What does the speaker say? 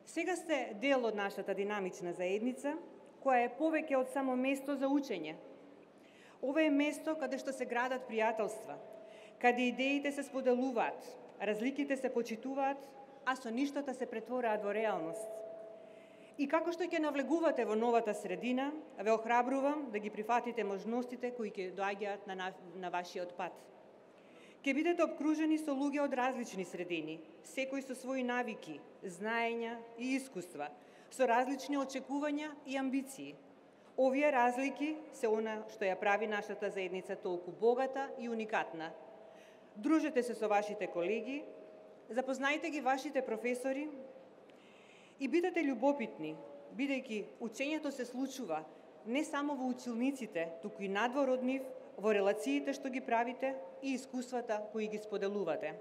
Сега сте дел од нашата динамична заедница, која е повеќе од само место за учење. Ова е место каде што се градат пријателства, каде идеите се споделуваат, разликите се почитуваат, а соништата се претвораат во реалност. И како што ќе навлегувате во новата средина, ве охрабрувам да ги прифатите можностите кои ќе доаѓаат на вашиот пат. Ќе бидете обкружени со луѓе од различни средини, секој со своји навики, знаења и искуства, со различни очекувања и амбиции. Овие разлики се она што ја прави нашата заедница толку богата и уникатна. Дружете се со вашите колеги, запознајте ги вашите професори и бидете љубопитни, бидејќи учењето се случува не само во училниците, туку и надвор од нив, во релациите што ги правите и искуствата кои ги споделувате.